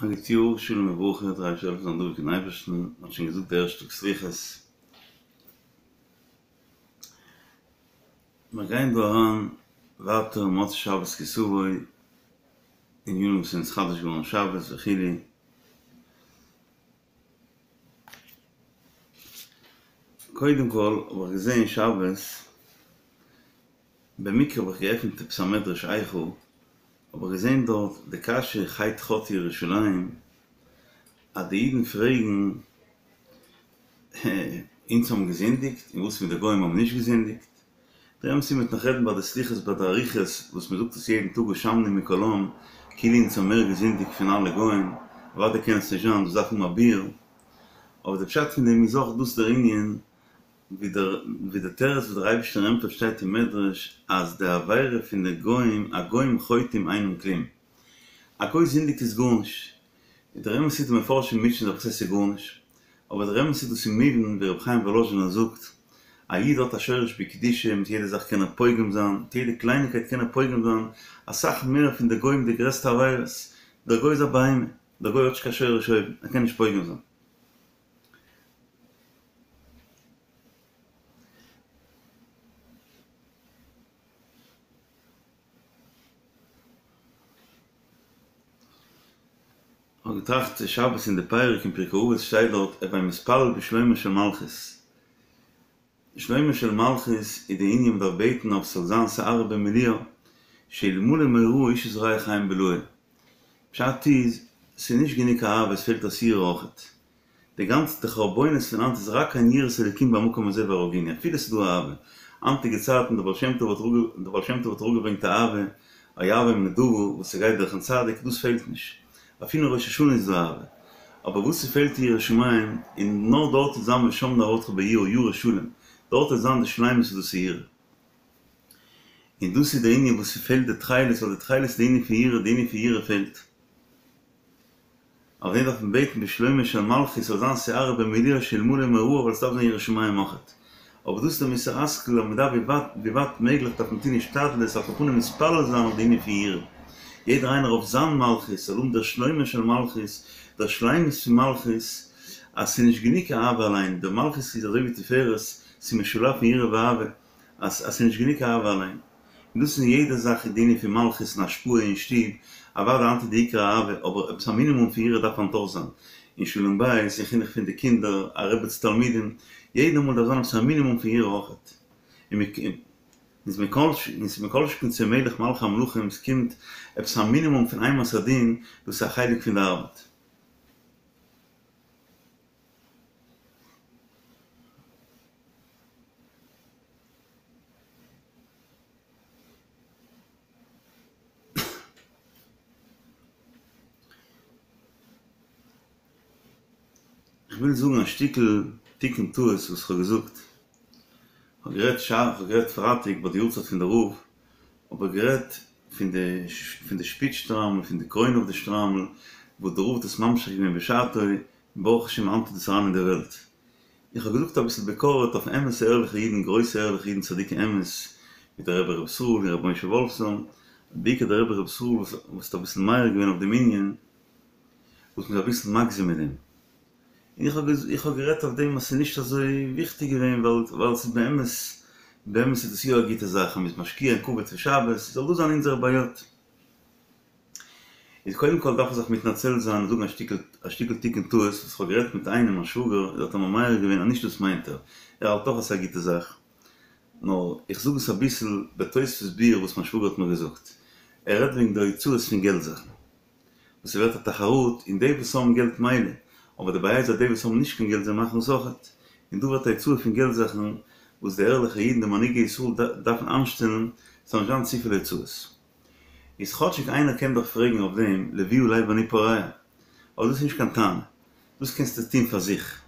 א גוט יאר, שלום וברכה, דער אייבערשטער זאל העלפן זיין דבוק אין אייבערשטן, מען האט שוין געזאגט די ערשטע טאג סליחות. מיר גייען דא אריין ווייטער מוצאי שבת כי תבוא, ענינים וואס איז נתחדש געווארן שבת וכו'. קודם כל האב איך געזען שבת, במקרה האב איך געעפנט עפעס א מדרש איכה, האב איך געזען דארט די קשיא חטא חטאה ירושלים, אז די אידן פרעגן, אונז האבן געזינדיגט, און וואס מיט די גוים האבן נישט געזינדיגט? דער אמת איז מ'וועט נאך רעדן ביי די סליחות ביי די אריכות וואס מ'זאגט עס יעדן טאג אשמנו מכל עם, כאילו אונז האבן מער געזינדיגט פון אלע גוים, אוודאי קען עס נישט זיין, דאס דארף האבן א ביאור, אבער די פשט פון דעם איז אויך דאס דער ענין ווי דער ווי דער תירוץ וואס דער אייבערשטער ענטפערט שטייט אין מדרש אז די עבירה פון די גוים הגוים חוטאים אינם כלום א גוי זינדיגט איז גארנישט און דער אמת איז די מפרשים מוטשען זיך וואס הייסט ס'איז גארנישט אבער דער אמת איז דאס איז מובן ווי רבי חיים וואלאזשינער זאגט א איד האט א שורש בקדושה מיט יעדע זאך קען ער פוגם זיין מיט יעדע קלייניקייט קען ער פוגם זיין אסאך מער פון די גוים די גרעסטע עבירות דער גוי איז א בהמה דער גוי האט נישט קיין שורש אויבן ער קען נישט פוגם זיין. כ'האב געטראכט שבת אין די פרק אין פרקי אבות שטייט דארט הוי מתפלל בשלומה של מלכות. שלומה של מלכות איז די ענין מ'דארף בעטן אויף ס'זאל זיין שערה במילואה שאלמלא מוראה איש את רעהו חיים בלעו. פשט איז, ס'איז נישט גענוג אהבה עס פעלט אויס יראה אויכעט. די גאנצע די חרבונות פון היינט איז רק אין יראת אלוקים במקום הזה והרגוני אפילו ס'איז דא אהבה. היינטיגע צייטן די בעל שם טוב האט די בעל שם טוב האט אראפגעברענגט אהבה, אוהבם נדבה וואס ס'גייט דורכן צדיק דאס פעלט נישט. אפילו ראש השנה איז דא אהבה. אבער וואס ס'פעלט איז יראת שמים, און נאר דארט וועט זיין ושם נערתך ביראה ירא שלם, דארט וועט זיין די שלימות איז דאס יראה. און דאס איז די ענין וואס ס'פעלט די תכלת, ווייל די תכלת איז די ענין פון יראה, די ענין פון יראה פעלט. אויף דעם דארף מען בעטן בשלומה של מלכות ס'זאל זיין שערה במילואה שאלמלא מוראה ווייל ס'דארף זיין יראת שמים אויכעט. אבער דאס איז די מוסר השכל אז מ'דארף ווי ווייט ווי ווייט מעגליך דארף מען טון השתדלות על כל פנים מתפלל זיין אויף די ענין פון יראה. יעדער איינער אויף זיין מלכות זאל האבן דער שלומה של מלכות, דער שלימות פון מלכות, אז ס'איז נישט גענוג אהבה אליין, די מלכות איז אזוי ווי תפארת, ס'איז משולב פון יראה ואהבה, אז אז ס'איז נישט גענוג אהבה אליין. און דאס איז אין יעדע זאך די ענין פון מלכות און השפעה אין שטוב, אוודאי היינט איז די עיקר אהבה, אבער עפעס א מינימום פון יראה דארף היינט אויך זיין, אין שלום בית, אין חינוך פון די קינדער, א רבי צו תלמידים, יעדע מאל דארף זיין עפעס א מינימום פון יראה אויכעט. און איז מכל שכן צום מלך מלכי המלכים, ס'קומט עפעס א מינימום פון אימת הדין, דאס איז א חלק פון די ארבעט. איך וויל זאגן א שטיקל תיקון טעות וואס כ'האב געזאגט. כ'האב גערעדט שארף, כ'האב גערעדט פרייטאג ביי די יארצייט פון די רב, האב איך גערעדט פון די פון די שפיץ שטריימל, פון די קרוין אויף די שטריימל, וואס די רב האט עס ממשיך געווען בשעתו, און ברוך השם היינט איז דאס אריין אין די וועלט. איך האב געזאגט אביסל ביקורת אויף אמת'ע ערליכע אידן, גרויסע ערליכע אידן צדיקי אמת, ווי דער רבי ר' ישראל און רבי משה וואלפסאן, בעיקר דער רבי ר' ישראל וואס האט אביסל מעיר געווען אויף דעם ענין, וואס מ'איז אביסל מגזים מיט דעם. און איך האב איך האב גערעדט אויף דעם אז ס'איז נישט אזוי וויכטיג געווען ווייל ווייל ס'איז באמת באמת איז דאס יא א גוטע זאך אז מ'איז משקיע אין כבוד פון שבת, ס'זאל דא זיין אונזערע בעיות. איז קודם כל דארף איך זיך מתנצל זיין און זאגן א שטיקל א שטיקל תיקון טעות וואס כ'האב גערעדט מיט איינעם א שוואגער איז האט ער מיר מעיר געווען אז נישט דאס מיינט ער, ער האלט אויך אז ס'איז א גוטע זאך, נאר איך זאג עס אביסל בתוספות ביאור וואס מיין שוואגער האט מיר געזאגט, ער רעדט וועגן די הוצאות פון געלט זאכן וואס ס'ווערט א תחרות און די וואס האבן געלט מילא, אבער די בעיה איז אז די וואס האבן נישט קיין געלט זיי מאכן עס אויכעט, און דא ווערט א הוצאה פון געלט זאכן וואס די ערליכע אידן די מנהיגי ישראל דארפן איינשטעלן ס'זאל נישט זיין צופיל הוצאות. איז כאטשיג איינער קען דאך פרעגן אויף דעם לבי עלי ואני פורע, אבער דאס איז נישט קיין טענה, דאס קענסטו טון פאר זיך.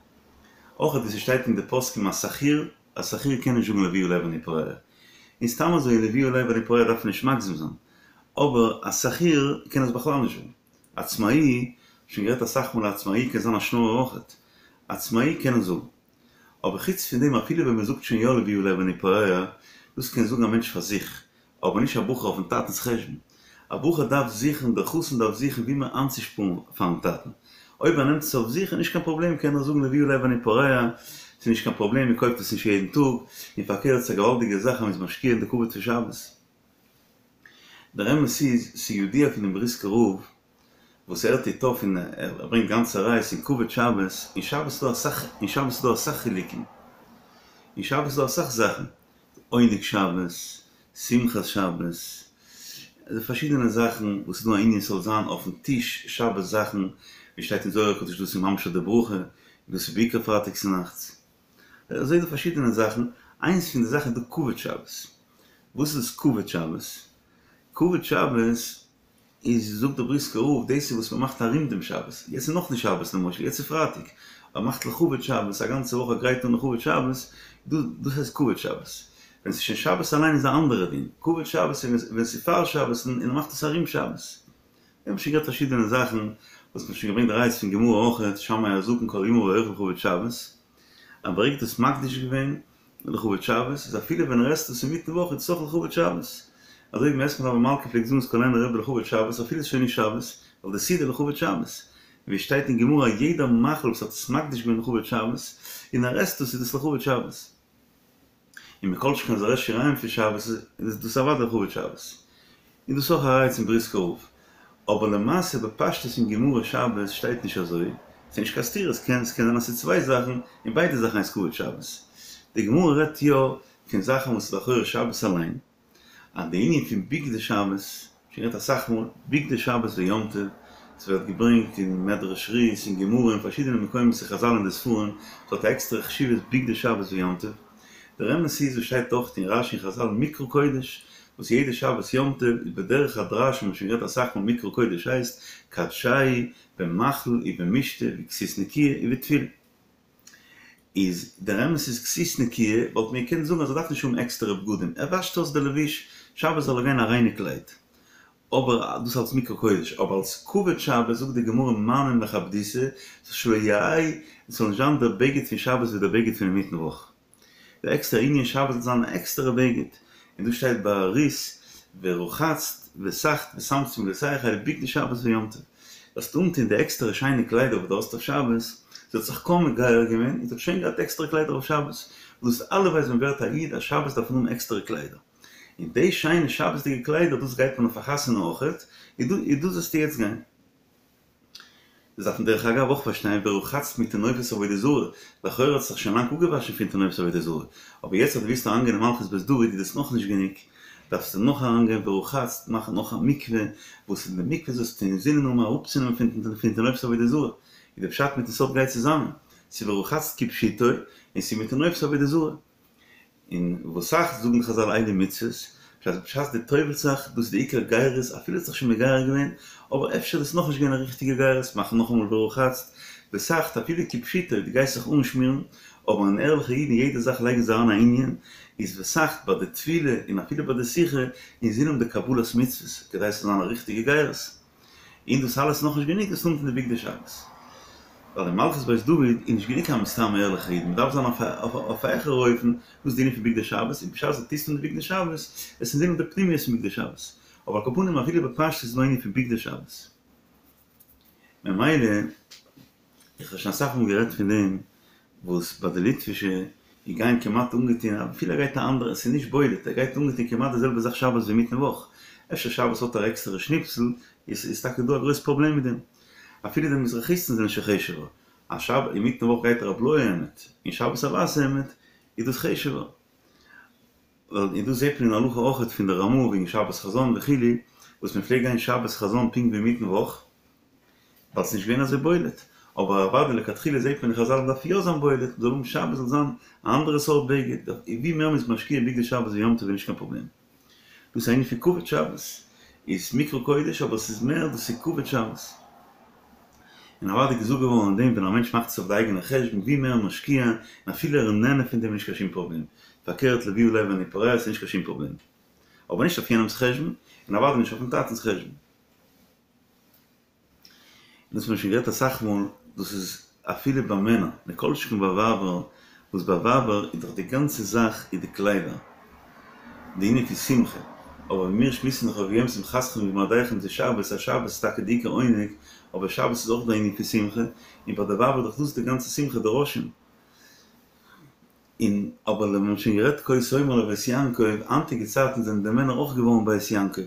אויך ווי ס'שטייט אין די פוסקים א שכיר, א שכיר קען נישט זאגן לבי עלי ואני פורע, און סתם אזוי לבי עלי ואני פורע דארף מען נישט מגזים זיין, אבער א שכיר קען עס בכלל נישט זאגן. עצמאי, שוין גערעדט אסאך מאל א עצמאי קען זיין א שנארער אויכעט, עצמאי קען עס זאגן. אבער חוץ פון דעם אפילו ווען מ'זאגט שוין יא לבי עלי ואני פורע, דאס קען זאגן א מענטש פאר זיך, אבער נישט א בחור אויפן טאטנס חשבון. א בחור דארף זוכן, דער חתן דארף זוכן ווי מער איינצושפארן פארן טאטן. אויב ער נעמט עס אויף זיך איז נישט קיין פראבלעם, קען ער זאגן לבי עלי ואני פורע, ס'איז נישט קיין פראבלעם, מען קויפט עס נישט יעדן טאג, און פארקערט ס'איז א געוואלדיגע זאך אז מ'איז משקיע אין די כבוד פון שבת. דער אמת איז, ס'איז ידוע פונעם בריסקער רב, וואס ער טוט אויף און ער ברענגט גאנצע ראיות אין כבוד שבת, אין שבת איז דא אסאך, אין שבת איז דא אסאך חילוקים, אין שבת איז דא אסאך זאכן, עונג שבת, שמחת שבת, די פארשידענע זאכן וואס איז דא א ענין ס'זאל זיין אויפן טיש שבת זאכן, ווי שטייט אין זוהר הקדוש דאס איז ממש די ברכה, און דאס איז בעיקר פרייטאג צונאכטס. אזוי איז דא פארשידענע זאכן, איינס פון די זאכן איז דא כבוד שבת. וואס איז דאס כבוד שבת? כבוד שבת איז זאגט דער בריסקער רב דאס איז וואס מען מאכט ארום דעם שבת, יעצט איז נאכנישט שבת למשל, יעצט איז פרייטאג, מען מאכט לכבוד שבת, א גאנצע וואך א גרייט אן לכבוד שבת, דאס הייסט כבוד שבת. ווען ס'איז שוין שבת אליין איז א אנדערע דין, כבוד שבת איז ווען ס'איז פאר שבת און מען מאכט עס ארום שבת. מיר האבן שוין געהאט פארשידענע זאכן וואס מ'האט שוין געברענגט ראיות פון גמרא אויכעט, שמאי הזקן כל ימיו אוכל לכבוד שבת, אז ברגע דו האסט מקדיש געווען לכבוד שבת, איז אפילו ווען ער עסט עס אינמיטן וואך איז עס אויך לכבוד שבת. אזוי ווי מת מלוה מלכה פלעגט זאגן סקולענער רבי לכבוד שבת אפילו עס איז שוין נישט שבת, ווייל די סעודה לכבוד שבת. און ווי עס שטייט אין גמרא יעדע מאכל וואס האט עס מקדיש געווען לכבוד שבת, און ער עסט עס איז דאס לכבוד שבת. און מכל שכן אז ער עסט שיריים פון שבת איז דאס אוודאי לכבוד שבת. און דאס איז אויך א ראיה צום בריסקער רב. אבער למעשה בפשטות אין גמרא שבת שטייט נישט אזוי, ס'איז נישט קיין סתירה, ס'קען ס'קען זיין אז ס'איז צוויי זאכן און ביידע זאכן הייסט כבוד שבת. די גמרא רעדט יא פון זאכן וואס איז לכאורה שבת אליין, אז די ענין פון בגדי שבת, שוין גערעדט אסאך מאל, בגדי שבת ויום טוב, ס'ווערט געברענגט אין מדרש רות, אין גמרא, אין פארשידענע מקומות אין חזל אין די ספרים, ס'האט א עקסטערע חשיבות בגדי שבת ויום טוב. דער אמת איז וואס שטייט אויך אין רשי און חזל מקרא קודש, וואס יעדע שבת יום טוב איז בדרך הדרש האט מען שוין גערעדט אסאך מאל מקרא קודש הייסט קדשהו במאכל ובמשתה ובכסות נקיה ובתפילה. איז דער אמת איז כסות נקיה וואלט מען געקענט זאגן אז ער דארף נישט האבן עקסטערע בגדים ער וואשט אויס די לבוש שבת זאל ער גיין א ריינע קלייד אבער דאס אלס מקרא קודש אבער אלס כבוד שבת זאגט די גמרא מהני מכבדותא שלא יהא עס זאל נישט זיין דער בגד פון שבת ווי דער בגד פון אינמיטן וואך. די עקסטערע ענין שבת זאל זיין א עקסטערע בגד, און דא שטייט ביי רות ורחצת וסכת ושמת שמלותיך אלו בגדי שבת ויום טוב, זאלסט אנטון די עקסטערע שיינע קליידער וואס דו האסט אויף שבת, זי האט זיך קוים מגייר געווען און זי האט שוין געהאט עקסטערע קליידער אויף שבת, וואס דאס אלע ווייסט ווען ווערט א איד אז שבת דארף מען האבן עקסטערע קליידער, און די שיינע שבת'דיגע קליידער דאס גייט מען אויף א חתונה אויכעט, און דאס זאלסטו יעצט גיין. דאס דארף מען דרך אגב אויך פארשטיין, ורחצת מטינופת עבודה זרה, לכאורה האט זיך שוין לאנג אפגעוואשן פון טינופת עבודה זרה, אבער יעצט אז דו ווילסט אריינגיין אין מלכות בית דוד איז דאס נאכנישט גענוג, דארפסטו נאך אריינגיין ורחצת, מאכן נאך א מקווה, וואס אין די מקווה זאלסטו אינזינען האבן אראפצונעמען פון טינופת עבודה זרה, איז די פשט מיטן סוד גייט צוזאמען, ס'איז ורחצת כפשוטו, און ס'איז מטינופת עבודה זרה. און וסכת זאגן די חזל אלו מצוות, בשעת בשעת דו טובל'סט זיך, דאס איז די עיקר גירות, אפילו האסט זיך שוין מגייר געווען, אבער אפשר איז עס נאכנישט געווען א ריכטיגע גירות, מאך נאכאמאל ורחצת, וסכת אפילו כפשוטו, דו גייסט זיך אנשמירן, אבער אן ערליכע איד אין יעדע זאך לייגן זיי אריין א ענין, איז וסכת ביי די טבילה און אפילו ביי די סיכה, אינזין האבן די קבלת מצוות, כדי ס'זאל זיין א ריכטיגע גירות. און דאס אלעס איז נאכנישט גענוג דאס אנטון די בגדי שבת. ווייל אין מלכות בית דוד איז נישט גענוג קיין סתם ערליכע איד, מען דארף זיין אויף א העכערע אופן, דאס איז די ענין פון בגדי שבת, און בשעת דו טוסט אן די בגדי שבת, עס אינזין האבן די פנימיות פון בגדי שבת. אבער על כל פנים אפילו בפשטות איז דא ענין פון בגדי שבת. ממילא. איך האב שוין אסאך מאל גערעדט פון דעם וואס ביי די ליטווישע די גייען כמעט אנגעטון אפילו ער גייט א אנדערע ס'איז נישט בולט ער גייט אנגעטון כמעט די זעלבע זאך שבת ווי אינמיטן וואך אפשר שבת האט ער עקסטערע שניפסל איז איז טאקע דא א גרויס פראבלעם מיט דעם אפילו די מזרחיסטן זענען שוין חשוב'ער אז שבת אינמיטן וואך גייט ער א בלויע העמד און שבת א ווייסע העמד איז דאס חשוב'ער ווייל און דאס זעט מען אין הלכה אויכעט פון די רמ"א וועגן שבת חזון וכו' וואס מען פלעגט גיין שבת חזון פונקט ווי אינמיטן וואך ווייל ס'נישט געווען אזוי בולט, אבער אוודאי לכתחילה זעט מען אין חזל מ'דארף יא זיין בולט, מ'זאל האבן שבת זאל זיין א אנדערע סארט בגד, ווי מער מ'איז משקיע בגדי שבת ויום טוב איז נישט קיין פראבלעם. דאס איז א ענין פון כבוד שבת, איז מקרא קודש אבער ס'איז מער דאס איז כבוד שבת. און אוודאי געזאגט געווארן אין דעם ווען א מענטש מאכט עס אויף די אייגענע חשבון ווי מער משקיע און אפילו ער איז נהנה פון דעם איז נישט קיין שום פראבלעם, פארקערט לבי עלי ואני פורע ס'איז נישט קיין שום פראבלעם. אבער נישט אויף יענעמ'ס חשבון, און אוודאי נישט אויפן טאטענ'ס חשבון. דאס האט מען שוין גערעדט אסאך מאל, דאס איז אפילו ביי מענער, מכל שכן ביי ווייבער, וואס ביי ווייבער איז דאך די גאנצע זאך איז די קליידער, די ענין פון שמחה. אבער ווי מיר שמועסן דאך וביום שמחתכם ובמועדיכם זה שבת, אז שבת איז טאקע די עיקר עונג, אבער שבת איז אויך די ענין פון שמחה, און ביי די ווייבער איז דאך דאס די גאנצע שמחה די ראשים. און אבער ווי מ'האט שוין גערעדט כה תאמר לבית יעקב, היינטיגע צייטן זענען די מענער אויך געווארן בית יעקב,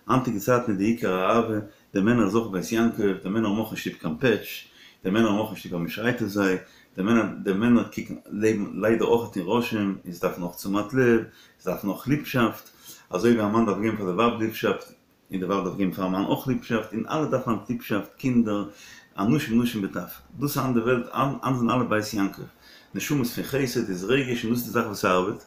היינטיגע צייטן איז די עיקר אהבה, די מענער איז אויך בית יעקב, די מענער האבן אויך נישט ליב קיין פעטש, די מענער האבן אויך נישט ליב אז מ'שרייט אויף זיי, די מענער די מענער קוקן לעבן ליידער אויך אין ראשים, און זיי דארפן אויך תשומת לב, זיי דארפן אויך ליבשאפט, אזוי ווי א מאן דארף געבן פאר די ווייב ליבשאפט, און די ווייב דארף געבן פארן מאן אויך ליבשאפט, און אלע דארפן היינט ליבשאפט, קינדער, אנשים נשים וטף, דאס איז היינט די וועלט, היינט זענען אלע בית יעקב, נשמות פון חסד איז רגש און דאס איז די זאך וואס ארבעט,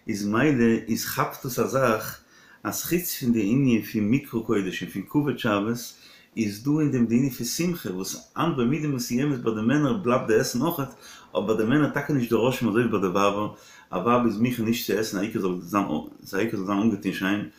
איז מילא איז כאפט דאס א זאך אז חוץ פון די ענין פון מקרא קודש און פון כבוד שבת, איז דא אין דעם די ענין פון שמחה, וואס היינט במידה מסוימת ביי די מענער בלייבט די עסן אויכעט, אבער ביי די מענער טאקע נישט די ראשים אזוי ווי ביי די ווייבער, א ווייב איז מוכן נישט צו עסן א עיקר זאל זיין א עיקר זאל זיין אנגעטון שיין,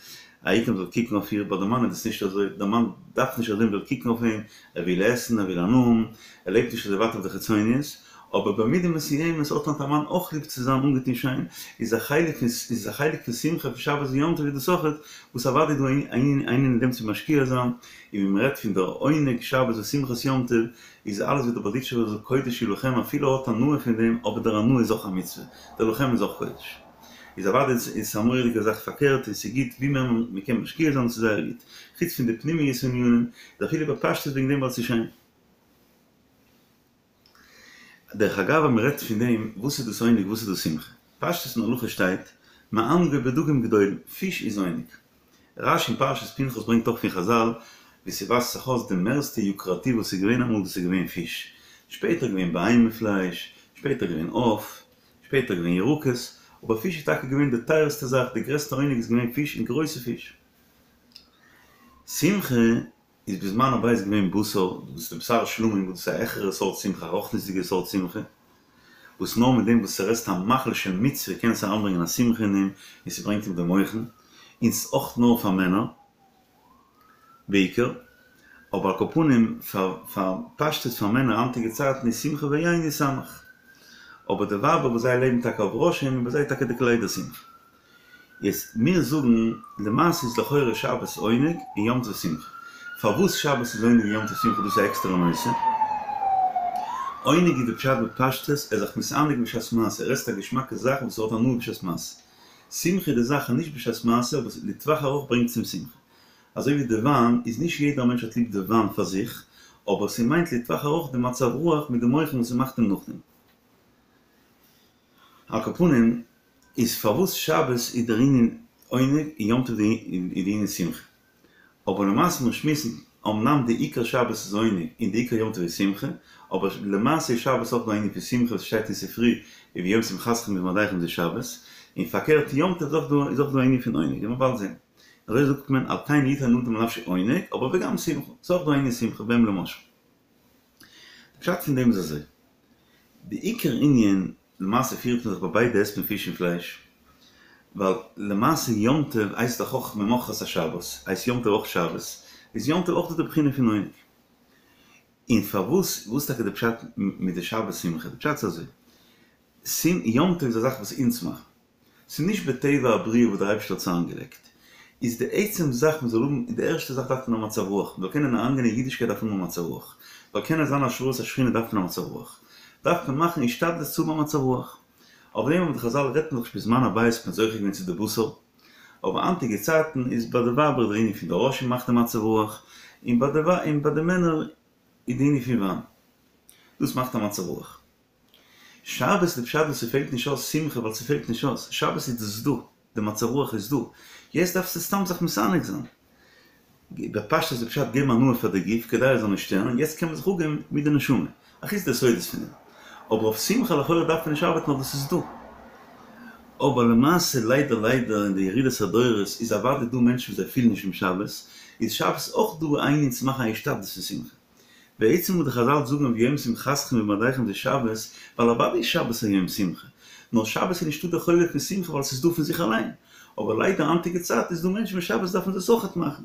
א עיקר מ'זאל קוקן אויף איר, ביי די מאן איז דאס נישט אזוי, די מאן דארף נישט אזוי מ'זאל קוקן אויף אים, ער וויל עסן, ער וויל הנאה האבן, ער לעבט נישט אזוי ווייט אויף די חיצוניות, אבער במידה מסוימת האט היינט א מאן אויך ליב צו זיין אנגעטון שיין, איז א חלק פון איז א חלק פון שמחה פון שבת ויום טוב איז דאס אויכעט, וואס אוודאי איז דא א ענין אין דעם צו משקיע זיין, און ווי מ'רעדט פון דער עונג שבת ושמחת יום טוב, איז אלעס ווי דער בארדיטשובער זאגט קודש הוא לכם אפילו ער האט הנאה פון דעם, אבער דער הנאה איז אויך א מצוה, דער לכם איז אויך קודש. איז אוודאי איז עס א מורא'דיגע זאך פארקערט און ס'איז גוט ווי מער מ'קען משקיע זיין ס'איז זייער גוט. חוץ פון די פנימיות ענינים, איז אפילו בפשטות וועגן דעם ווייל ס'איז שיין. דרך אגב אז מ'רעדט פון דעם וואס איז דאס עונג וואס איז דאס שמחה. פשטות אין הלכה שטייט מענגו בדגים גדולים, פיש איז עונג. רש"י אין פרשת פנחס ברענגט אויך פון חז"ל ווי ס'ווייזט זיך אויס די מערסטע יוקרתי וואס איז געווען אמאל דאס איז געווען פיש. שפעטער געווען בהמה פלייש, שפעטער געווען עוף, שפעטער געווען ירקות, אבער פיש איז טאקע געווען די טייערסטע זאך, די גרעסטע עונג איז געווען פיש און גרויסע פיש. שמחה איז בזמן הבית געווען בשר, דאס איז די בשר שלמים וואס דאס איז א העכערע סארט שמחה, א רוחניות'דיגע סארט שמחה, וואס נאר מיט דעם וואס ער עסט א מאכל של מצוה קען עס אריינברענגען א שמחה אין אים און ס'ברענגט אים די מוחין, און ס'איז אויך נאר פאר מענער. בעיקר, אבער על כל פנים פאר פאר פשטות פאר מענער היינטיגע צייטן איז שמחה ויין ישמח. אבער די ווייבער וואס זיי לעבן טאקע אויף ראשים און ביי זיי איז טאקע די קליידער שמחה. יעצט מיר זאגן למעשה איז לכאורה שבת עונג און יום טוב שמחה. פארוואס שבת איז עונג און יום טוב שמחה דאס איז א עקסטערע נושא. עונג איז די פשט בפשטות ער איז זיך מתענג בשעת מעשה, ער עסט א געשמאקע זאך וואס ער האט הנאה בשעת מעשה. שמחה איז די זאך נישט בשעת מעשה אבער לטווח ארוך ברענגט צום שמחה. אזוי ווי די וויין איז נישט יעדער מענטש האט ליב די וויין פאר זיך, אבער ס'מיינט לטווח ארוך די מצב רוח מיט די מוחין וואס ס'מאכט אים נאכדעם. על כל פנים, איז פארוואס שבת איז דער ענין עונג און יום טוב איז די ענין שמחה. אבער למעשה מיר שמועסן, אמנם די עיקר שבת איז עונג און די עיקר יום טוב איז שמחה, אבער למעשה איז שבת אויך דא א ענין פון שמחה וואס שטייט אין ספרי וביום שמחתכם ובמועדיכם זה שבת, און פארקערט יום טוב איז אויך דא א ענין פון עונג, ווי מ'וועט באלד זען. אזוי זאגט מען על כן יתן אדם לנפשו עונג, אבער וגם שמחה, ס'איז אויך דא א ענין שמחה בהם למשל. די פשט פון דעם איז אזוי, די עיקר ענין, למעשה פירט מען זיך ביי ביידע עסט מען פיש און פלייש, ווייל למעשה יום טוב הייסט דאך אויך ממחרת השבת, הייסט יום טוב אויך שבת, איז יום טוב אויך דא די בחינה פון עונג. און פארוואס, וואס איז טאקע די פשט מיט די שבת שמחה? די פשט איז אזוי, יום טוב איז א זאך וואס אונז מאכן, ס'איז נישט בטבע הבריאה וואס דער אייבערשטער האט עס איינגעלייגט, איז די עצם זאך מען זאל האבן, די ערשטע זאך דארף מען א מצב רוח, מען זאל קענען אריינגיין אין אידישקייט דארף מען האבן א מצב רוח, זאל קענען זיין השראת השכינה דארף מען א מצב רוח, דארף מען מאכן השתדלות צו האבן א מצב רוח, אויף דעם האבן די חזל רעדט מען דאך בזמן הבית האט מען זוכה געווען צו די בשר, אבער היינטיגע צייטן איז ביי די ווייבער דער ענין פון די ראשים מאכט די מצב רוח, און ביי די און ביי די מענער איז די ענין פון וויין, דאס מאכט א מצב רוח. שבת איז די פשט וואס ס'פעלט נישט אויס שמחה ווייל ס'פעלט נישט אויס, שבת איז דאס דא, די מצב רוח איז דא, יעצט דארפסטו סתם זיך מתענג זיין. בפשטות איז די פשט געבן הנאה פאר די גוף כדי ער זאל נישט שטערן, יעצט קען מען זיך אפגעבן מיט די נשמה, אחוץ די סודות פון דעם. אבער אויף שמחה לכאורה דארף מען נישט ארבעטן ווייל דאס איז דא. אבער למעשה ליידער ליידער אין די ירידת הדורות איז אוודאי דא מענטשן וואס זיי פילן נישט דעם שבת, איז שבת אויך דא א ענין צו מאכן א השתדלות פון שמחה. בעצם וואס די חזל זאגן וביום שמחתכם ובמועדיכם זה שבת, ווייל אוודאי איז שבת א יום שמחה, נאר שבת איז נישטא די חובה פון שמחה ווייל ס'איז דא פון זיך אליין, אבער ליידער היינטיגע צייט איז דא מענטשן וואס שבת דארפן זיי עס אויכעט מאכן.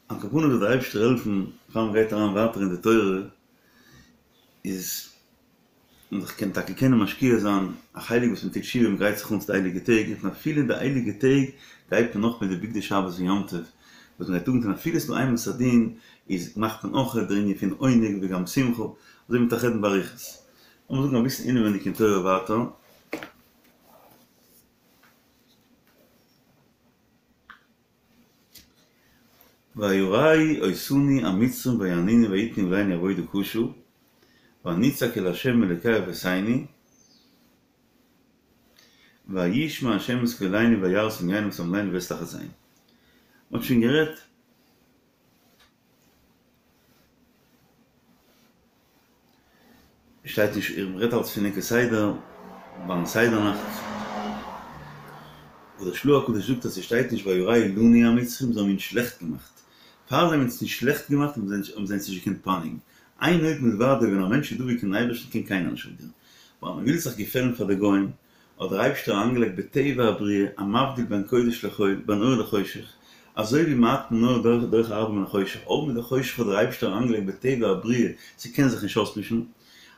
על כל פנים זאל דער אייבערשטער העלפן פאר מען גייט אריין ווייטער אין די תורה איז. מען זיך קען טאקע קענען משקיע זיין א חלק וואס מען טוט תשובה מען גרייט זיך אן צו די הייליגע טעג און אפילו אין די הייליגע טעג גייט מען נאך מיט די בגדי שבת ויום טוב וואס מען גייט אנטון אפילו ס'איז דא אימת הדין איז מאכט מען אויך דער ענין פון עונג וגם שמחה אזוי מ'וועט רעדן באריכות. לאמיר זאגן אביסל אינעווייניג אין תורה ווייטער. וירעו אותנו המצרים ויענונו ויתנו עלינו עבודה קשה ונצעק אל ה' אלוקי אבותינו וישמע ה' את קולנו וירא את ענינו ואת עמלנו ואת לחצינו. מ'האט שוין גערעדט. שטייט נישט, איך רעד אלץ פון ענקער סדר, ביים סדר נאכט, וואס דער של"ה הקדוש זאגט אז ס'שטייט נישט וירעו לנו המצרים, זיי האבן אונז שלעכט געמאכט, פאר זיי האבן אונז נישט שלעכט געמאכט האבן זיי אונז נישט געקענט פייניגן, אין עוד מלבדו ווען א מענטש איז דבוק אין אייבערשטן קען קיינער נישט אויף דיר, ווייל מען וויל זיך געפעלן פאר די גוים, האט דער אייבשטער אריינגעלייגט בטבע הבריאה א מבדיל בין קודש לחול בין אור לחושך, אזוי ווי מעט מן האור דוחה הרבה מן החושך, אויך מיט די חושך האט דער אייבשטער אריינגעלייגט בטבע הבריאה ס'קען זיך נישט אויסמישן,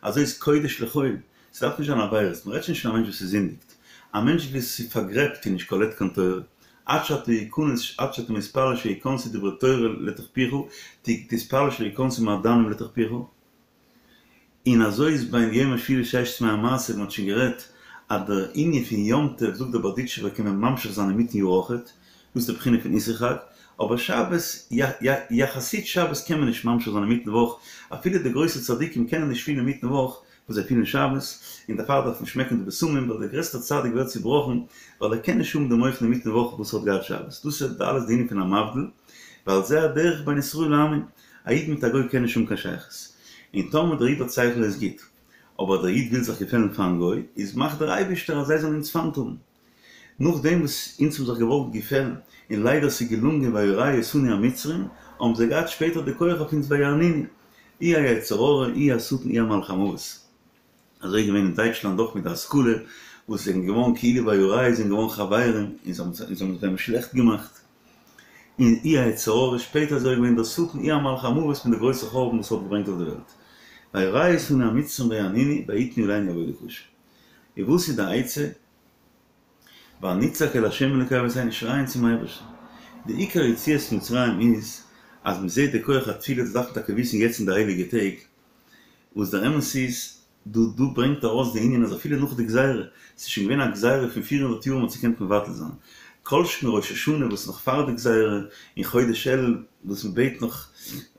אזוי איז קודש לחול, ס'דארף נישט זיין עבירות, מ'רעדט שוין נישט פון א מענטש וואס איז זינדיגט, א מענטש וואס איז פארגרעבט און נישט קולט קיין תורה, עד שאתה יכנס עד שאתה מתפלל שיכנסו דברי תורה לתוך פיך, תתפלל שלא יכנסו מעדנים לתוך פיך. און אזוי איז בין יום השביעי לששת ימי המעשה, מען האט שוין גערעדט אז דער ענין פון יום טוב זאגט דער בארדיטשובער קען מען ממשיך זיין אינמיטן יאר אויכעט, דאס איז די בחינה פון אסרו חג, אבער שבת, יחסית שבת קען מען נישט ממשיך זיין אינמיטן וואך, אפילו די גרויסע צדיקים קענען נישט פילן אינמיטן וואך וואס זיי פילן שבת, און דערפאר דארף מען שמעקן די בשמים ווייל דער גרעסטער צדיק ווערט צובראכן ווייל ער קען נישט האבן די מוחין אינמיטן וואך וואס ער האט געהאט שבת, דאס איז אלעס די ענין פון המבדיל, ועל זה הדרך בין ישראל לעמים. א איד מיט א גוי קען נישט האבן קיין שייכות. און טאמער דער איד האט שכל איז גוט, אבער דער איד וויל זיך געפעלן פארן גוי, איז מאכט דער אייבישטער אז זיי זאלן אונז פיינט האבן. נאכדעם וואס אונז האבן זיך געוואלט געפעלן, און ליידער ס'איז געלונגען וירעו אותנו המצרים, האבן זיי געהאט שפעטער די כח אויף אונז ויענונו. אי היצר הרע, אי השטן, אי המלאך המוות. אזוי איז געווען אין דייטשלאנד אויך מיט די השכלה, וואס זענען געווארן כאילו וירעו זענען געווארן חברים און זיי האבן זיי שלעכט געמאכט, און אי היצר הרע, שפעטער אזוי געווען דער שטן אי המלאך המוות מיט די גרויסע חורבן וואס האט געברענגט אויף די וועלט. וירעו אותנו המצרים ויענונו ויתנו עלינו עבודה קשה. און וואס איז די עצה? ונצעק אל ה' אלוקי אבותינו שרייען צום אייבערשטן. די עיקר יציאת מצרים איז אז מען זעט די כח התפילה דאס דארף מען טאקע וויסן יעצט אין די הייליגע טעג, וואס דער אמת איז, דא דא ברענגט ארויס די ענין אז אפילו נאך די גזירה, ס'איז שוין געווען א גזירה פון פיר הונדערט יאר מ'האט עס געקענט מבטל זיין, כל שכן ראש השנה וואס נאך פאר די גזירה, און חודש אלול וואס מ'בעט נאך,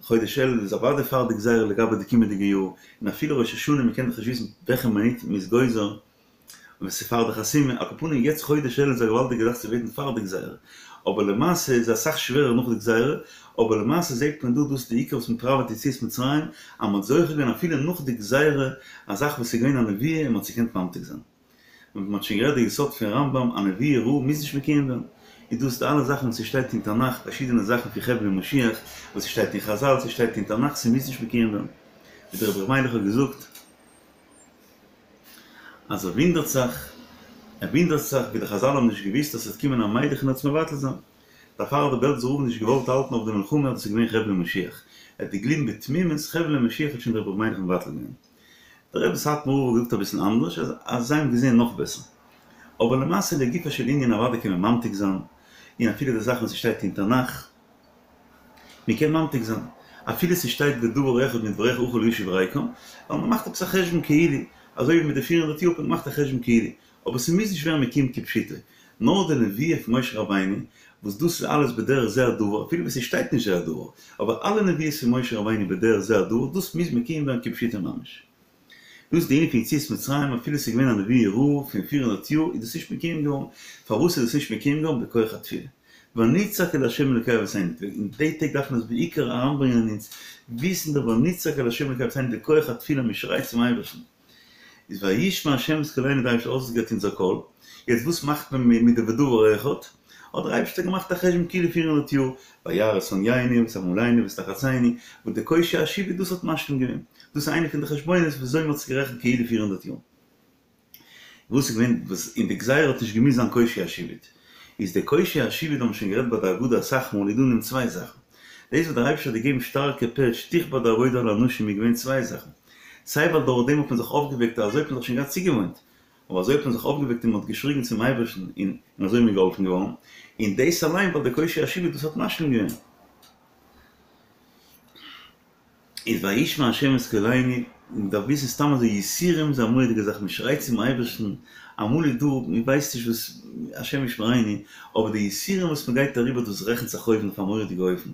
חודש אלול איז אוודאי פאר די גזירה לגבי די קומענדיגע יאר, און אפילו ראש השנה מ'קען דאך נישט וויסן וועלכע מינוט מ'איז גוזר, און עס איז פאר די חתימה, על כל פנים יעצט חודש אלול איז א געוואלדיגע זאך צו בעטן פאר די גזירה, אבער למעשה איז אסאך שווערער נאך די גזירה, אבער למעשה זעט מען דא דאס איז די עיקר וואס מען פראוועט יציאת מצרים, אז מען האט זוכה געווען אפילו נאך די גזירה, א זאך וואס איז געווען א נבואה און מען האט עס געקענט ממתיק זיין. און מען האט שוין גערעדט די יסוד פון רמב"ם א נבואה רעה מוז נישט מקוים ווערן, איז דאס די אלע זאכן וואס ס'שטייט אין תנך, פארשידענע זאכן פון חבלי משיח, וואס ס'שטייט אין חזל, ס'שטייט אין תנך, ס'מוז נישט מקוים ווערן. ווי דער רבי ר' מיילעך האט געזאגט. אז ער וואונדערט זיך, ער וואונדערט זיך ווי די חזל האבן נישט געוואוסט אז ס'וועט קומען א מיילעך און עס מבטל זיין. דערפאר האט דער בעלזער רב נישט געוואלט האלטן אויף די מלחמה אז דאס איז געווען חבלי משיח. ער האט געגליבן בתמימות חבלי משיח האט שוין דער רבי ר' מיילעך מבטל געווען. דער רבי סאטמאר רב האט געזאגט אביסל אנדערש אז אז זיי האבן געזען נאך בעסער. אבער למעשה לגופו של ענין אוודאי קען מען ממתיק זיין, און אפילו די זאכן וואס ס'שטייט אין תנך, מען קען ממתיק זיין אפילו ס'שטייט ודבר אחד מדבריך אוכל להשיב ריקם, ווייל מ'מאכט עפעס א חשבון כאילו, אזוי ווי מיט די פיר הונדערט יאר האט מען געמאכט א חשבון כאילו, אבער ס'מוז נישט ווערן מקוים כפשוטו, נאר די נבואה פון משה רבינו, וואס דאס איז אלעס בדרך זה הדבר, אפילו ווען ס'שטייט נישט זה הדבר, אבער אלע נבואות פון משה רבינו בדרך זה הדבר, דאס מוז מקוים ווערן כפשוטו ממש. דאס איז די ענין פון יציאת מצרים, אפילו ס'איז געווען א נבואה רעה פון פיר הונדערט יאר איז דאס נישט מקוים געווארן, פארוואס איז דאס נישט מקוים געווארן? בכח התפילה. ונצעק אל ה' אלוקי אבותינו, אין די טעג דארף מען עס בעיקר אריינברענגען אין אונז, וויסן דער ונצעק אל ה' אלוקי אבותינו די כח התפילה מען שרייט צום אייבערשטן, איז וישמע ה' את קולנו דער אייבערשטער האט אויסגעהערט אונזער קול, יעצט וואס מאכט מען מיט די ודבר אחד? האט דער אייבערשטער געמאכט א חשבון כאילו פיר הונדערט יאר, וירא את ענינו ואת עמלינו ואת לחצינו, וואס די קושי השעבוד דאס האט משלים געווען, דאס איז איינע פון די חשבונות וויאזוי מען האט עס גערעכנט כאילו פיר הונדערט יאר. וואס איז געווען וואס אין די גזירה האט נישט געמוזט זיין קושי השעבוד, איז די קושי השעבוד האבן מיר שוין גערעדט ביי די הגדה אסאך מאל איז דא אין דעם צוויי זאכן, דאס וואס דער אייבערשטער האט געגעבן שטארקע פעטש תכבד העבודה על האנשים איז געווען צוויי זאכן. סיי ווייל דורך דעם האט מען זיך אויפגעוועקט אזוי האט מען זיך שוין געהאט צוגעוואוינט, אבער אזוי האט מען זיך אויפגעוועקט און מען האט געשריגן צום אייבערשטן און אזוי איז מען געהאלפן געווארן, און דאס אליין ווייל די קושי השעבוד דאס האט משלים געווען. איז וישמע ה' את קולנו, מען דארף וויסן סתם אזוי יסורים איז א מורא'דיגע זאך, מען שרייט צום אייבערשטן, אמאל איז דא, מען ווייסט נישט וואס, השם ישמרינו, אבער די יסורים וואס מען גייט אריבער דאס רעכנט זיך אויבן אויף א מורא'דיגע אופן,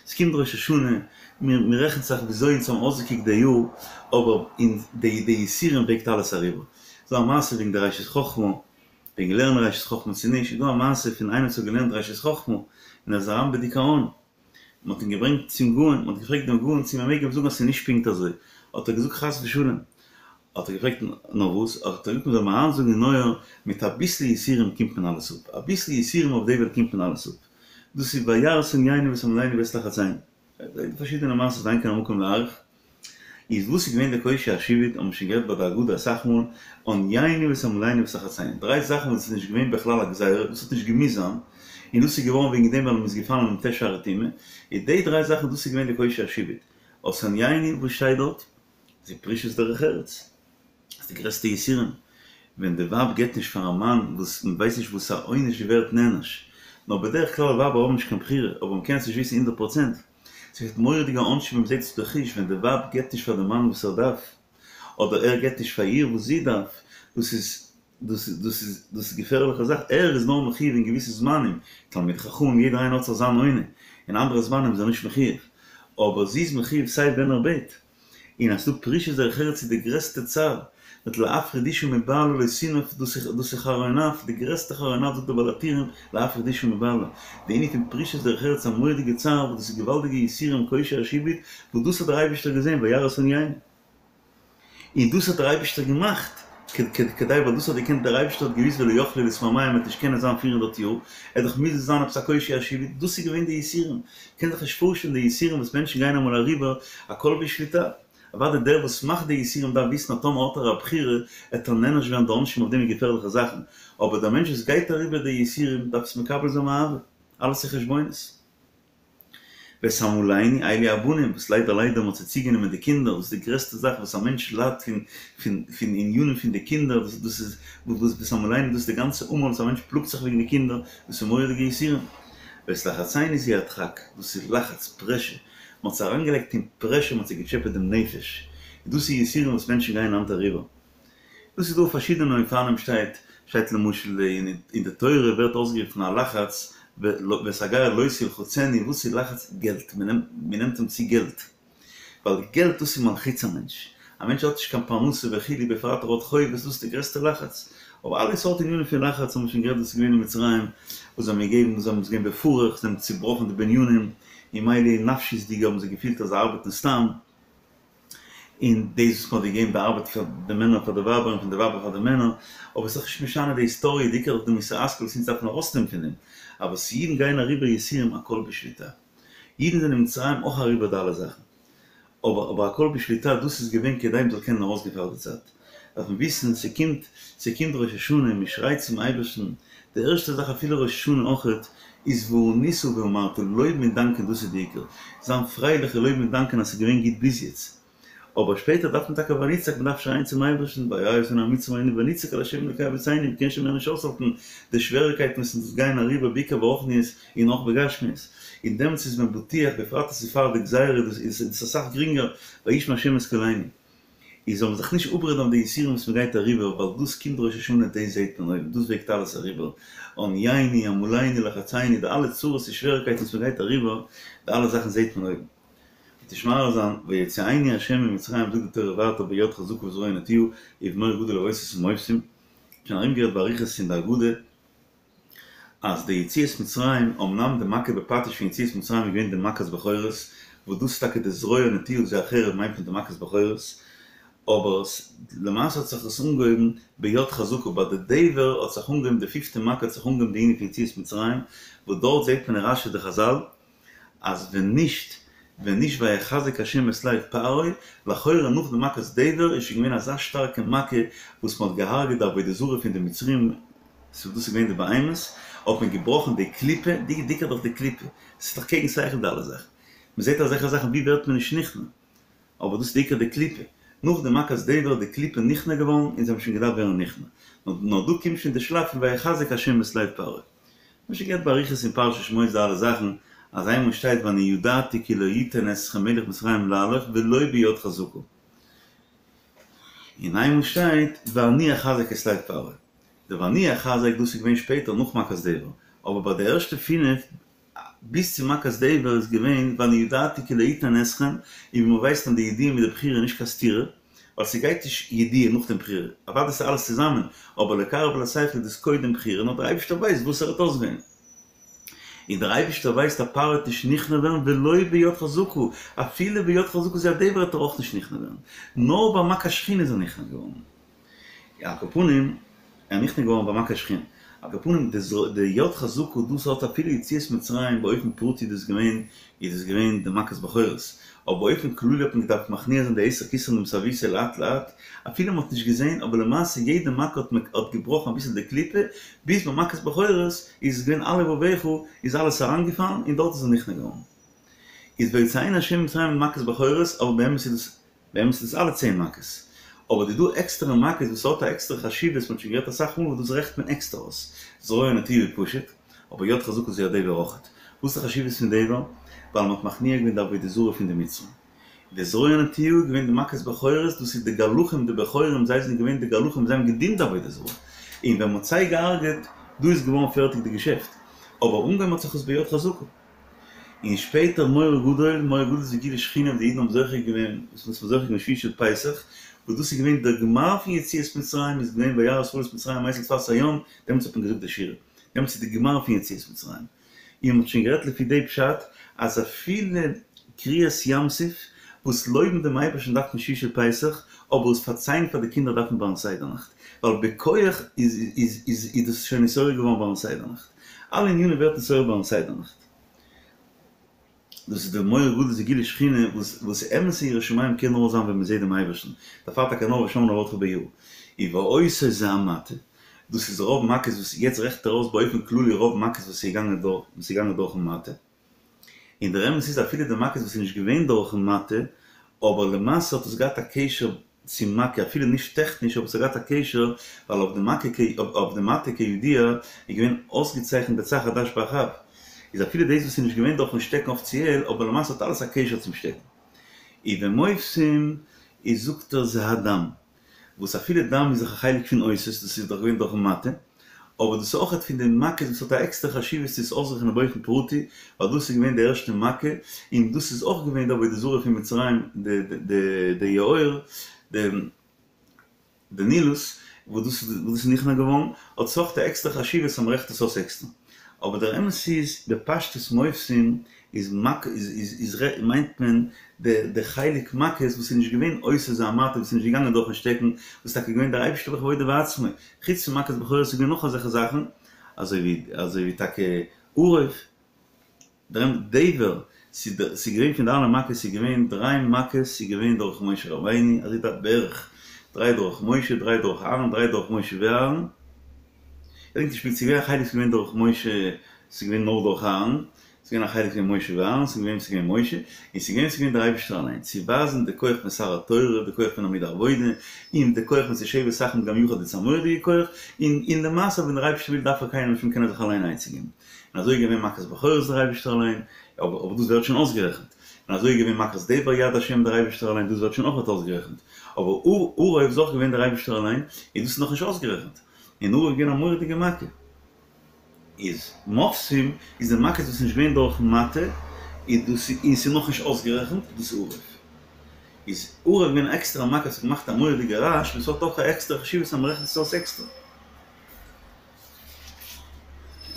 עס קומט ראש השנה, מען רעכנט זיך וויאזוי אונז האבן אויסגעקוקט די יאר, אבער אין די די יסורים וועגט אלעס אריבער. ס'איז דא א מעשה וועגן די ראשית חכמה, וועגן לערנען ראשית חכמה צו נישט, איז דא א מעשה פון איינער וואס האט געלערנט ראשית חכמה און ער איז אריין בדיכאון, מען האט אים געברענגט צום גאון, מען האט געפרעגט דעם גאון צו מען מעג אים זאגן אז ס'איז נישט פונקט אזוי, האט ער געזאגט חס ושלום, האט ער געפרעגט נאר וואס, האט ער געזאגט מען זאל אים אריינזאגן אין אויער, מיט אביסל יסורים קומט מען אלעס אפ, אביסל יסורים אויף די וועלט קומט מען אלעס אפ, דאס איז וירא את ענינו ואת עמלינו ואת לחצינו, פארשידענע מעשות ואין כאן המקום להאריך. איז וואס איז געווען די קושי השעבוד האבן מיר שוין גערעדט ביי די הגדה אסאך מאל, עניינו ואת עמלינו ואת לחצינו, דריי זאכן וואס איז נישט געווען בכלל א גזירה, דאס האט נישט געמוזט זיין, און דאס איז געווארן וועגן דעם ווייל מען איז געפאלן אין מ"ט שערי טומאה, איז די דריי זאכן דאס איז געווען די קושי השעבוד, את ענינו וואס שטייט דארט? זו פרישות דרך ארץ. איז די גרעסטע יסורים ווען די ווייב געבט נישט פאר א מאן וואס מען ווייסט נישט וואס א עונש זי ווערט נענש, נאר בדרך כלל ווייבער האבן נישט קיין בחירה אבער מען קען עס נישט וויסן הונדערט פראצענט, ס'ווערט מורא'דיגע עונשים ווען מען זעט עס בחוש ווען די ווייב געבט נישט פאר די מאן וואס ער דארף אדער ער געבט נישט פאר איר וואס זי דארף, דאס איז דאס איז דאס איז דאס איז געפערליכע זאך, ער איז נאר מחיוב אין געוויסע זמנים, תלמיד חכמים יעדער איינער האט זיך זיין עונה, אין אנדערע זמנים איז ער נישט מחיוב, אבער זי איז מחיוב סיי ווען ער בעט. און אז ס'דא פרישות דרך ארץ איז די גרעסטע צער, מיט להפריד אשה מבעלה לא תנאף, דאס איז דאס איז חרון אף, די גרעסטע חרון אף זאגט דער בעל הטורים, להפריד אשה מבעלה, די ענין פון פרישות דרך ארץ א מורא'דיגע צער וואס דאס איז געוואלדיגע יסורים קושי השעבוד, וואס דאס האט דער אייבערשטער געזען וירא את ענינו. און דאס האט דער אייבערשטער געמאכט, כדי ווייל דאס האט געקענט דער אייבערשטער האט געוויסט ולא יכלו להתמהמה מ'וועט נישט קענען זיין פיר הונדערט יאר, עט דאך מוזן זיין עפעס א קושי השעבוד, דאס איז געווען די יסורים, קען זיך נישט פארשטעלן די יסורים וואס מענטשן גייען אמאל אריבער, הכל בשליטה. אוודאי דער וואס מאכט די יסורים דארף וויסן אז טאמער האט ער א בחירה עט ער נענש ווערן די עונשים אויף דעם איז געפערליכע זאכן, אבער דער מענטש וואס גייט אריבער די יסורים דארף עס מקבל זיין מאהבה, אלעס איז חשבונות. ואת עמלינו אלו הבנים, וואס ליידער ליידער מ'האט זיי צוגענומען די קינדער, דאס איז די גרעסטע זאך וואס א מענטש ליידט פון פון פון עניינים פון די קינדער, דאס דאס איז וואס ואת עמלינו דאס איז די גאנצע עמל וואס א מענטש פלאגט זיך וועגן די קינדער, דאס איז מורא'דיגע יסורים. ואת לחצינו זו הדחק, דאס איז לחץ, פרעשור, מ'האט זיי אריינגעלייגט אין פרעשור, מ'האט זיי געטשעפעט דעם נפש, און דאס איז יסורים וואס מענטשן גייען היינט אריבער. דאס איז דא אויף פארשידענע אופנים שטייט שטייט למשל אין די תורה ווערט אויסגערופן א לחץ ואת הגר לא תלחצנו וואס איז לחץ געלט מען נעמט אים צו געלט ווייל געלט דאס איז מלחיץ א מענטש א מענטש האט נישט קיין פרנסה וכו' בפרט ער האט חובות דאס איז די גרעסטע לחץ אבער אלע סארט ענינים פון לחץ האבן מיר שוין גערעדט וואס איז געווען אין מצרים וואס זיי האבן געגעבן וואס זיי האבן געווען בפרך זיי האבן צובראכן די בנינים און מילא נפשיות'דיג האבן זיי געפילט אז זיי ארבעטן סתם. און דאס וואס מ'האט געגעבן די ארבעט פאר די מענער פאר די ווייבער און פון די ווייבער פאר די מענער, אבער ס'איז דאך נישט משנה די היסטאריע, די עיקר איז דאך די מוסר השכל וואס אונז דארפן ארויסנעמען פון דעם, אבער וואס אידן גייען אריבער יסורים הכל בשליטה. אידן זענען אין מצרים אויך אריבער די אלע זאכן, אבער אבער הכל בשליטה, דאס איז געווען כדי מ'זאל קענען ארויסגיין פאר די צייט. דארף מען וויסן, ס'קומט, ס'קומט ראש השנה, מ'שרייט צום אייבערשטן, די ערשטע זאך אפילו ראש השנה אויכעט, איז וענית ואמרת, לויבן און דאנקען דאס איז די עיקר, זיין פרייליך און לויבן און דאנקען אז ס'איז געווען גוט ביז יעצט, אבער שפעטער דארף מען טאקע ונצעק, מ'דארף שרייען צום אייבערשטן, וירא אותנו המצרים ונצעק אל ה' אלוקי אבותינו, מ'קען שוין מער נישט אויסהאלטן די שוועריקייטן וואס אונז גייען אריבער בעיקר ברוחניות און אויך בגשמיות, און דעמאלטס איז מען בטוח, בפרט אז ס'איז פאר די גזירה איז עס אסאך גרינגער, וישמע ה' את קולנו. איז זאל מען זיך נישט אפרעדן אויף די יסורים וואס מען גייט אריבער, ווייל דאס קומט ראש השנה דאס זעט מען אויבן, דאס וועגט אלעס אריבער, ענינו, עמלינו, לחצינו, די אלע צרות און שוועריקייטן וואס מען גייט אריבער, די אלע זאכן זעט מען אויבן. וועט נישט מאריך זיין, ויוציאנו ה' ממצרים זאגט די תורה ווייטער ביד חזקה ובזרוע נטויה ובמאור גדול ובאותות ומופתים, שוין ארומגערעדט באריכות אין די הגדה, אז די יציאת מצרים, אמנם די מכה בפטיש פון יציאת מצרים איז געווען די מכת בכורות, וואס דאס איז טאקע די זרוע נטויה זו החרב מיינט מען די מכת בכורות, אבער למעשה האט זיך עס אנגעהויבן ביד חזקה, ביי די דבר האט זיך אנגעהויבן די פיפטע מכה האט זיך אנגעהויבן די ענין פון יציאת מצרים, וואס דארט זעט מען אין רש"י די חז"ל, אז ווען נישט ווען נישט ויחזק השם את לב פרעה, לכאורה נאך די מכת דבר איז שוין געווען אזא שטארקע מכה וואס מען האט געהארגעט די עבודה זרה פון די מצרים, סאו דאס איז געווען די בהמות, האט מען געבראכן די קליפה, די עיקר דאך די קליפה, ס'איז דאך קעגן שכל די אלע זאכן, מען זעט אזעלכע זאכן ווי ווערט מען נישט נכנע? אבער דאס איז די עיקר די קליפה. נאך די מכת דבר איז די קליפה נכנע געווארן און זיי האבן שוין געדארפט ווערן נכנע. נאר דא קומט שוין די שלב פון ויחזק השם את לב פרעה. מ'האט שוין גערעדט באריכות אין פרשת שמות די אלע זאכן, אז איינמאל שטייט ואני ידעתי כי לא יתן אתכם מלך מצרים להלוך ולא ביד חזקה. און איינמאל שטייט ואני אחזק את לב פרעה. די ואני אחזק דאס איז געווען שפעטער נאך מכת דבר, אבער ביי די ערשטע פינף ביז צו מכת דבר איז געווען ואני ידעתי כי לא יתן אתכם, און ווי מ'ווייסט אז די ידיעה מיט די בחירה איז נישט קיין סתירה, ווייל ס'גייט נישט ידיעה נאך דעם בחירה, אוודאי ס'איז אלעס צוזאמען, אבער לקרב אל השכל איז דאס קודם בחירה, נאר דער אייבערשטער ווייסט וואס ער וועט אויסוועלן. און דער אייבערשטער ווייסט אז פרעה וועט נישט נכנע ווערן ולא ביד חזקה, אפילו ביד חזקה זו הדבר וועט ער אויך נישט נכנע ווערן, נאר ביי מכת שחין איז ער נכנע געווארן. על כל פנים, ער איז נכנע געווארן ביי מכת שחין. על כל פנים, די יד חזקה דאס האט אפילו יציאת מצרים באופן פרטי דאס געווען, איז דאס געווען די מכת בכורות. אבער באופן כללי האט מען געדארפט מכניע זיין די עשר כתרין דמסאבותא לאט לאט, אפילו מען האט נישט געזען, אבער למעשה יעדע מכה האט האט געבראכן אביסל די קליפה, ביז ביי מכת בכורות איז עס געווען על לבבך איז אלעס אריינגעפאלן און דארט איז ער נכנע געווארן. איז ויוציאנו ה' ממצרים במכת בכורות, אבער באמת איז דאס באמת איז דאס אלע צען מכות. אבער די דא עקסטערע מכות וואס האט א עקסטערע חשיבות, מ'האט שוין גערעדט אסאך מאל וואס דאס רעכנט מען עקסטער אויס. זרוע נטויה פשוט, אבער יד חזקה זו הדבר אויכעט. וואס איז די חשיבות פון דבר? ווייל מ'האט מכניע געווען די עבודה זרה פון די מצרים. די זרוע נטויה איז געווען די מכת בכורות, דאס איז די גלחים די בכורים, זיי זענען געווען די גלחים זיי האבן געדינט די עבודה זרה. און ווען מ'האט זיי געהארגעט, דא איז געווארן פערטיג די געשעפט. אבער אנגעהויבן האט זיך עס ביד חזקה. און שפעטער מורא גדול, מורא גדול איז גילוי שכינה וואס די אידן האבן זוכה געווען, וואס מ'האט זוכה געווען שביעי של פסח, וואס דאס איז געווען דער גמר פון יציאת מצרים איז געווען וירא ישראל את מצרים מת על שפת הים, דעמאלטס האט מען געזאגט די שירה, דעמאלטס איז די גמר פון יציאת מצרים. און מ'האט שוין גערעדט לפי די פשט אז אפילו קריעת ים סוף, וואס לויבן דעם אייבערשטן דארף מען שביעי של פסח, אבער עס פארציילן פאר די קינדער דארף מען ביים סדר נאכט, ווייל בכח איז איז איז דאס שוין נתעורר געווארן ביים סדר נאכט. אלע ענינים ווערט נתעורר ביים סדר נאכט. דאס איז די מורא גדול זה גילוי שכינה וואס וואס אמת'ע יראת שמים קען נאר זיין ווען מען זעט דעם אייבערשטן, דערפאר טאקע נאר ושמנה לעבדך ביראה. והאותות זה המטה, דאס איז רוב מכות וואס יעצט רעכנט ער אויס באופן כללי רוב מכות וואס איז געגאנגען דורך וואס איז געגאנגען דורכן מטה. און דער אמת איז אפילו די מכות וואס איז נישט געווען דורכן מטה, אבער למעשה האט עס געהאט א קשר צום מכה אפילו נישט טעכניש אבער עס האט געהאט א קשר ווייל אויף די מכה אויף די מטה כידוע איז געווען אויסגעצייכנט דצ"ך עד"ש באח"ב איז אפילו דאס וואס איז נישט געווען דורכן שטעקן אפיציעל אבער למעשה האט אלעס א קשר צום שטעקן. ובמופתים איז זאגט ער זה הדם וואס אפילו דם איז דאך א חלק פון אותות, דאס איז דאך געווען דורכן מטה, אבער דאס איז אויכעט פון די מכות וואס האט א עקסטערע חשיבות צו עס אויסרעכענען באופן פרטי, ווייל דאס איז געווען די ערשטע מכה, און דאס איז אויך געווען די עבודה זרה פון מצרים, די יאור, די נילוס, וואס דאס איז נכנע געווארן, האט עס אויך א עקסטערע חשיבות אז מ'רעכנט עס אויס עקסטער. אבער דער אמת איז, בפשטות מופתים איז מק איז איז איז ר' מיינט מען די די חלק מכות וואס איז נישט געווען אותות זה המטה וואס איז נישט געגאנגען דורכן שטעקן וואס איז טאקע געווען דער אייבערשטער בכבודו ובעצמו חוץ פון מכת בכורות איז געווען נאך אזעלכע זאכן אזוי ווי אזוי ווי טאקע ערוב דער דבר ס'איז ס'איז געווען פון די אלע מכות ס'איז געווען דריי מכות ס'איז געווען דורך משה רבינו אזוי דארט בערך דריי דורך משה דריי דורך אהרן דריי דורך משה ואהרן. כ'געדענק נישט פונקט, ס'איז געווען א חלק ס'איז געווען דורך משה, ס'איז געווען נאר דורך אהרן, ס'איז געווען א חלק פון משה ואהרן, ס'איז געווען ס'איז געווען משה, און ס'איז געווען ס'איז געווען דער אייבערשטער אליין, צו ווייזן די כח פון שר התורה, די כח פון עמוד העבודה, און די כח פון שבת אחים גם יחד איז א מורא'דיגע כח, און און למעשה ווען דער אייבערשטער וויל דארף ער קיינעם נישט קען ער זיך אליין עצה געבן. און אזוי איז געווען מכת בכורות דער אייבערשטער אליין, אבער אבער דאס ווערט שוין אויסגערעכנט. און אזוי איז געווען מכת דבר יד השם דער אייבערשטער אליין, דאס ווערט שוין אויכעט אויסגערעכנט. אבער ערוב איז אויך געווען דער אייבערשטער אליין, און דאס איז נאכנישט אויסגערעכנט. און ערוב איז געווען א מורא'דיגע מכה. איז מופתים איז די מכות וואס איז נישט געווען דורכן מטה, איז דאס און ס'איז נאכנישט אויסגערעכנט, דאס איז ערוב. איז ערוב געווען א עקסטערע מכה וואס האט געמאכט א מורא'דיגע רעש, וואס האט אויך א עקסטערע חשיבות אז מ'רעכנט עס אויס עקסטער.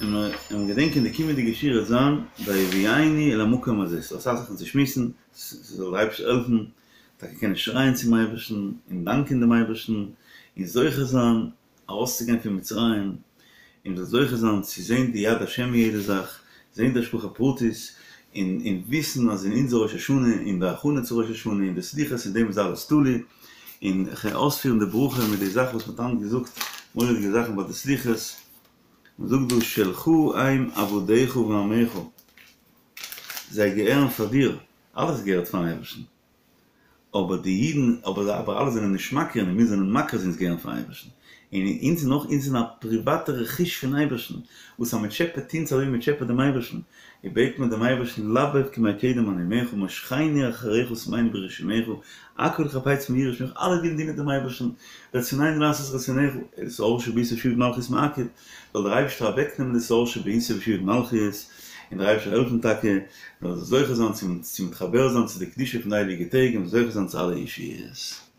און מיר געדענקען די קומענדיגע שיעור וועט זיין ויביאנו אל המקום הזה, ס'איז אסאך זאכן צו שמועסן, ס'זאל דער אייבערשטער העלפן טאקע קענען שרייען צום אייבערשטן און דאנקען דעם אייבערשטן און זוכה זיין ארויסצוגיין פון מצרים, און מ'זאל זוכה זיין צו זען די יד השם אין יעדע זאך, זען די השגחה פרטית, און און וויסן אז אין אונזער ראש השנה, אין די הכנה צו ראש השנה, אין די סליחות, אין דעם איז אלעס תלוי, און כ'גיי אויספירן די ברכה מיט די זאך וואס מ'האט היינט געזאגט, מורא'דיגע זאכן ביי די סליחות, מ'זאגט דא שלך הם עבדיך ועמך, זיי געהערן פאר דיר, אלעס געהערט פארן אייבערשטן. אבער די אידן, אבער אבער אלע זענען נישט מכיר און מיר זענען מכיר אז אונז געהערן פארן אייבערשטן. און אונז זענען אויך, אונז זענען א פריוואטע רכוש פון אייבערשטן, וואס אז מען טשעפעט אונז אזוי ווי מען טשעפעט דעם אייבערשטן, און בעט מען דעם אייבערשטן לבב כימי קדם אנעמך משכני אחריך שמני ברשימך, הכל חפצים יראו שמך, אלע ווילן דינען דעם אייבערשטן, רצוננו לעשות רצונך, שאור שבעיסה ושעבוד מלכיות מעכב, זאל דער אייבערשטער אוועקנעמען די שאור שבעיסה ושעבוד מלכיות, און דער אייבערשטער העלפן טאקע מ'זאל זוכה זיין צו מתחבר זיין צו די קדושה פון די הייליגע טעג און זוכה זיין צו אלע ישועות.